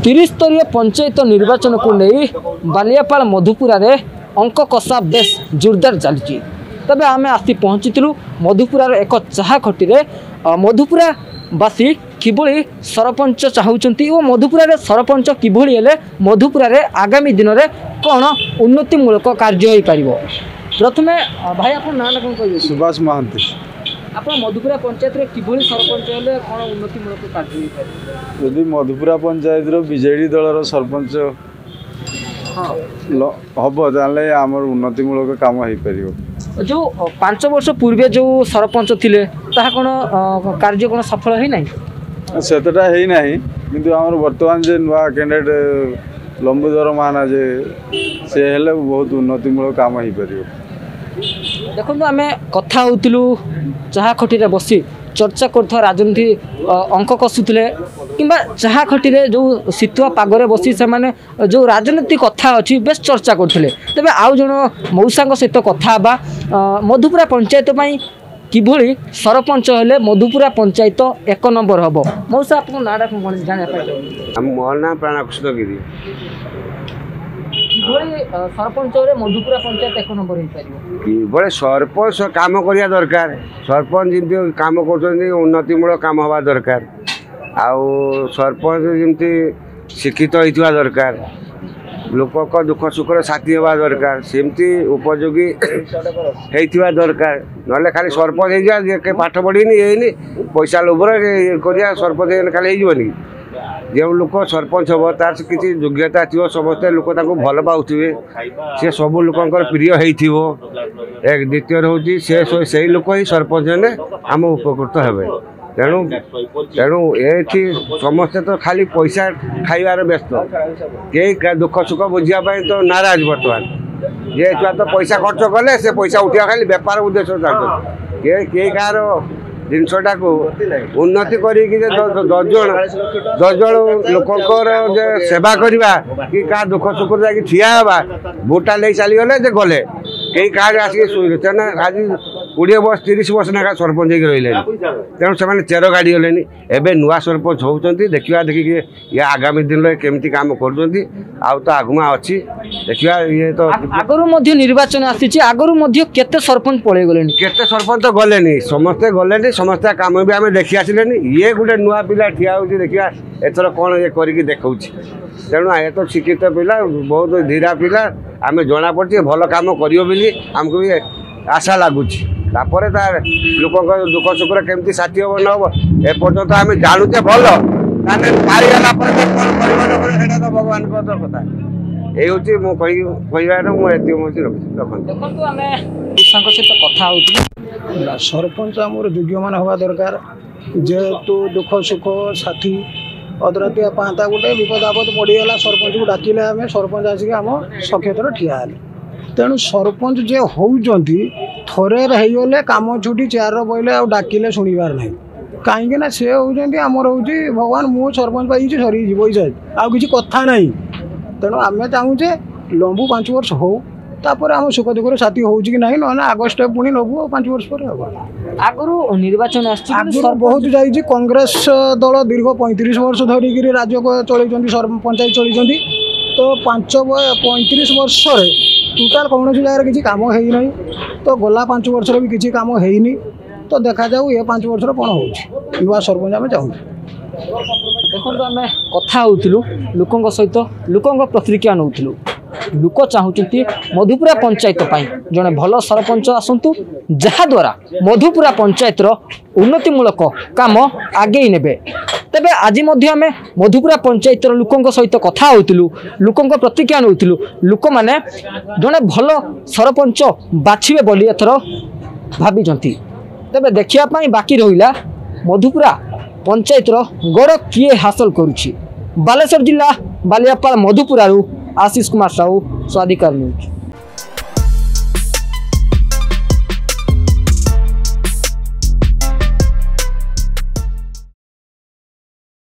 ତ୍ରିସ୍ତରୀୟ ପଞ୍ଚାୟତ ନିର୍ବାଚନକୁ ନେଇ ବାଲିଆପାଳ ମଧୁପୁରାରେ ଅଙ୍କ କଷା ବେଶ ଜୋରଦାର ଚାଲିଛି। ତେବେ ଆମେ ଆସି ପହଞ୍ଚିଥିଲୁ ମଧୁପୁରାର ଏକ ଚାହା ଖଟିରେ। ମଧୁପୁରାବାସୀ କିଭଳି ସରପଞ୍ଚ ଚାହୁଁଛନ୍ତି ଓ ମଧୁପୁରାରେ ସରପଞ୍ଚ କିଭଳି ହେଲେ ମଧୁପୁରାରେ ଆଗାମୀ ଦିନରେ କ'ଣ ଉନ୍ନତିମୂଳକ କାର୍ଯ୍ୟ ହୋଇପାରିବ। ପ୍ରଥମେ ଭାଇ, ଆପଣ ନାଁ କ'ଣ କହିବେ? ସୁଭାଷ ମହାନ୍ତି। ଆପଣ ମଧୁପୁରା ପଞ୍ଚାୟତରେ କିଭଳି ସରପଞ୍ଚ ହେଲେ କ'ଣ ଉନ୍ନତିମୂଳକ କାର୍ଯ୍ୟ ହୋଇପାରିବ? ଯଦି ମଧୁପୁରା ପଞ୍ଚାୟତର ବିଜେଡ଼ି ଦଳର ସରପଞ୍ଚ ହବ, ତାହେଲେ ଆମର ଉନ୍ନତିମୂଳକ କାମ ହେଇପାରିବ। ଯେଉଁ 5 ବର୍ଷ ପୂର୍ବେ ଯେଉଁ ସରପଞ୍ଚ ଥିଲେ, ତାହା କ'ଣ କାର୍ଯ୍ୟ କ'ଣ ସଫଳ ହେଇନାହିଁ? ସେତେଟା ହେଇନାହିଁ, କିନ୍ତୁ ଆମର ବର୍ତ୍ତମାନ ଯେ ନୂଆ କ୍ୟାଣ୍ଡିଡେଟ୍ ଲମ୍ବୁଧର ମହାନା ଯେ, ସେ ହେଲେ ବହୁତ ଉନ୍ନତିମୂଳକ କାମ ହେଇପାରିବ। ଦେଖନ୍ତୁ, ଆମେ କଥା ହେଉଥିଲୁ ଚାହା ଖଟିରେ ବସି ଚର୍ଚ୍ଚା କରୁଥିବା ରାଜନୀତି ଅଙ୍କ କଷୁଥିଲେ, କିମ୍ବା ଚାହା ଖଟିରେ ଯେଉଁ ଶୀତୁଆ ପାଗରେ ବସି ସେମାନେ ଯେଉଁ ରାଜନୀତି କଥା ଅଛି ବେଶ ଚର୍ଚ୍ଚା କରୁଥିଲେ। ତେବେ ଆଉ ଜଣ ମଉସାଙ୍କ ସହିତ କଥା ହେବା, ମଧୁପୁରା ପଞ୍ଚାୟତ ପାଇଁ କିଭଳି ସରପଞ୍ଚ ହେଲେ ମଧୁପୁରା ପଞ୍ଚାୟତ 1 ନମ୍ବର ହେବ। ମଉସା, ଆପଣଙ୍କ ନାଁଟା କ'ଣ ଜାଣିବା ପାଇଁ ଚାହୁଁଛି? ମୋ ନାଁ ପ୍ରାଣକୃଷ୍ଣ ଗିରି। କିଭଳି ସରପଞ୍ଚରେ ମଧୁପୁରା ପଞ୍ଚାୟତ 1 ନମ୍ବର ହେଇପାରିବ? କିଭଳି ସରପଞ୍ଚ କାମ କରିବା ଦରକାର। ସରପଞ୍ଚ ଯେମିତି କାମ କରୁଛନ୍ତି, ଉନ୍ନତିମୂଳକ କାମ ହେବା ଦରକାର। ଆଉ ସରପଞ୍ଚ ଯେମିତି ଶିକ୍ଷିତ ହେଇଥିବା ଦରକାର, ଲୋକଙ୍କ ଦୁଃଖ ସୁଖର ସାଥୀ ହେବା ଦରକାର, ସେମିତି ଉପଯୋଗୀ ହେଇଥିବା ଦରକାର। ନହେଲେ ଖାଲି ସରପଞ୍ଚ ହେଇଯିବା, ଯିଏ ପାଠ ପଢ଼ିନି ହେଇନି, ପଇସା ଲୋଭରେ କରିବା, ସରପଞ୍ଚ ହେଇଗଲେ ଖାଲି ହେଇଯିବନି। ଯେଉଁ ଲୋକ ସରପଞ୍ଚ ହେବ ତାର କିଛି ଯୋଗ୍ୟତା ଥିବ, ସମସ୍ତେ ଲୋକ ତାଙ୍କୁ ଭଲ ପାଉଥିବେ, ସେ ସବୁ ଲୋକଙ୍କର ପ୍ରିୟ ହେଇଥିବ। ଏକ ଦ୍ୱିତୀୟରେ ହେଉଛି ସେ ସେଇ ଲୋକ ହିଁ ସରପଞ୍ଚ ହେଲେ ଆମ ଉପକୃତ ହେବେ। ତେଣୁ ଏଠି ସମସ୍ତେ ତ ଖାଲି ପଇସା ଖାଇବାରେ ବ୍ୟସ୍ତ, କେହି ଦୁଃଖ ସୁଖ ବୁଝିବା ପାଇଁ ତ ନାରାଜ। ବର୍ତ୍ତମାନ ଯେ ଛୁଆ ତ ପଇସା ଖର୍ଚ୍ଚ କଲେ ସେ ପଇସା ଉଠିବା ଖାଲି ବେପାର ଉଦ୍ଦେଶ୍ୟ ଚାଲୁଛନ୍ତି। କେହି କାହାର ଜିନିଷଟାକୁ ଉନ୍ନତି କରିକି ଯେ 10 ଜଣ ଲୋକଙ୍କର ଯେ ସେବା କରିବା କି କାହା ଦୁଃଖ ସୁଖରେ ଯାଇକି ଠିଆ ହେବା, ଭୋଟଟା ନେଇ ଚାଲିଗଲେ ଯେ ଗଲେ, କେହି କାହାର ଆସିକି ଶୋଇଲେ। ତେଣୁ ଆଜି 20 ବର୍ଷ 30 ବର୍ଷ ଲେଖା ସରପଞ୍ଚ ହେଇକି ରହିଲେଣି, ତେଣୁ ସେମାନେ ଚେର ଗାଡ଼ିଗଲେଣି। ଏବେ ନୂଆ ସରପଞ୍ଚ ହେଉଛନ୍ତି, ଦେଖିବା ଦେଖିକି ଇଏ ଆଗାମୀ ଦିନରେ କେମିତି କାମ କରୁଛନ୍ତି। ଆଉ ତ ଆଗୁଆ ଅଛି, ଦେଖିବା ଇଏ ତ ଆଗରୁ ମଧ୍ୟ ନିର୍ବାଚନ ଆସିଛି, ଆଗରୁ ମଧ୍ୟ କେତେ ସରପଞ୍ଚ ପଳେଇ ଗଲେଣି। କେତେ ସରପଞ୍ଚ ଗଲେନି, ସମସ୍ତେ ଗଲେନି, ସମସ୍ତେ କାମ ବି ଆମେ ଦେଖି ଆସିଲେନି। ଇଏ ଗୋଟେ ନୂଆ ପିଲା ଠିଆ ହେଉଛି, ଦେଖିବା ଏଥର କ'ଣ ଇଏ କରିକି ଦେଖାଉଛି। ତେଣୁ ଏ ତ ଶିକ୍ଷିତ ପିଲା, ବହୁତ ଧୀରା ପିଲା, ଆମେ ଜଣାପଡ଼ୁଛି ଭଲ କାମ କରିବ ବୋଲି ଆମକୁ ବି ଆଶା ଲାଗୁଛି। ତାପରେ ତା ଲୋକଙ୍କ ଦୁଃଖ ସୁଖରେ କେମିତି ସାଥୀ ହେବ ନ ହେବ ଏପର୍ଯ୍ୟନ୍ତ ଆମେ ଜାଣୁଛେ ଭଲ, ତାହେଲେ ପାଇଗଲା ପରେ କ'ଣ କରିବ ନ କରିବ ସେଇଟା ତ ଭଗବାନଙ୍କ କଥା। ଏଇ ହେଉଛି ମୁଁ କହିବାର, ମୁଁ ଏତିକି ମୁଁ ରଖୁଛି, ରଖନ୍ତୁ। ଦେଖନ୍ତୁ, ଆମେ ସାଙ୍ଗ ସହିତ କଥା ହେଉଥିଲୁ। ସରପଞ୍ଚ ଆମର ଯୋଗ୍ୟମାନ ହେବା ଦରକାର, ଯେହେତୁ ଦୁଃଖ ସୁଖ ସାଥୀ। ଅଧରାତିଆ ପାହାନ୍ତା ଗୋଟେ ବିପଦ ଆପଦ ପଡ଼ିଗଲା, ସରପଞ୍ଚକୁ ଡାକିଲେ ଆମେ, ସରପଞ୍ଚ ଆସିକି ଆମ ସକ୍ଷେତରେ ଠିଆ ହେଲେ। ତେଣୁ ସରପଞ୍ଚ ଯିଏ ହେଉଛନ୍ତି, ଥରେ ହେଇଗଲେ କାମ ଛୁଟି, ଚେୟାର ବଇଲେ ଆଉ ଡାକିଲେ ଶୁଣିବାର ନାହିଁ। କାହିଁକି ନା ସେ ହେଉଛନ୍ତି ଆମର ହେଉଛି ଭଗବାନ। ମୁଁ ସରପଞ୍ଚ ପାଇଛି, ସରିଯିବ ପଇସା, ଆଉ କିଛି କଥା ନାହିଁ। ତେଣୁ ଆମେ ଚାହୁଁଛେ ଲମ୍ବୁ 5 ବର୍ଷ ହଉ, ତାପରେ ଆମ ସୁଖ ଦୁଃଖରେ ସାଥୀ ହେଉଛି କି ନାହିଁ, ନହେଲେ ଆଗ ଷ୍ଟେପ୍ ପୁଣି ନେବୁ ଆଉ 5 ବର୍ଷ ପରେ ହେବ। ଆଗରୁ ନିର୍ବାଚନ ଆସିଛି, ଆଗରୁ ବହୁତ ଯାଇଛି। କଂଗ୍ରେସ ଦଳ ଦୀର୍ଘ 35 ବର୍ଷ ଧରିକିରି ରାଜ୍ୟ ଚଳେଇଛନ୍ତି, ପଞ୍ଚାୟତ ଚଳେଇଛନ୍ତି। ତ 35 ବର୍ଷରେ ଟୋଟାଲ୍ କୌଣସି ଜାଗାରେ କିଛି କାମ ହେଇନାହିଁ। ତ ଗଲା 5 ବର୍ଷରେ ବି କିଛି କାମ ହେଇନି। ତ ଦେଖାଯାଉ ଏ 5 ବର୍ଷରେ କ'ଣ ହେଉଛି। ନୂଆ ସରପଞ୍ଚ ଆମେ ଚାହୁଁଛୁ। ଦେଖନ୍ତୁ, ଆମେ କଥା ହେଉଥିଲୁ ଲୋକଙ୍କ ସହିତ, ଲୋକଙ୍କ ପ୍ରତିକ୍ରିୟା ନେଉଥିଲୁ। ଲୋକ ଚାହୁଁଛନ୍ତି ମଧୁପୁରା ପଞ୍ଚାୟତ ପାଇଁ ଜଣେ ଭଲ ସରପଞ୍ଚ ଆସନ୍ତୁ, ଯାହାଦ୍ୱାରା ମଧୁପୁରା ପଞ୍ଚାୟତର ଉନ୍ନତିମୂଳକ କାମ ଆଗେଇ ନେବେ। ତେବେ ଆଜି ମଧ୍ୟ ଆମେ ମଧୁପୁରା ପଞ୍ଚାୟତର ଲୋକଙ୍କ ସହିତ କଥା ହେଉଥିଲୁ, ଲୋକଙ୍କ ପ୍ରତିକ୍ରିୟା ନେଉଥିଲୁ। ଲୋକମାନେ ଜଣେ ଭଲ ସରପଞ୍ଚ ବାଛିବେ ବୋଲି ଏଥର ଭାବିଛନ୍ତି। ତେବେ ଦେଖିବା ପାଇଁ ବାକି ରହିଲା ମଧୁପୁରା ପଞ୍ଚାୟତର ଗଡ଼ କିଏ ହାସଲ କରୁଛି। ବାଲେଶ୍ୱର ଜିଲ୍ଲା ବାଲିଆପାଳ ମଧୁପୁରାରୁ ଆଶିଷ କୁମାର ସାହୁ, ସ୍ୱାଧିକାର ନ୍ୟୁଜ୍।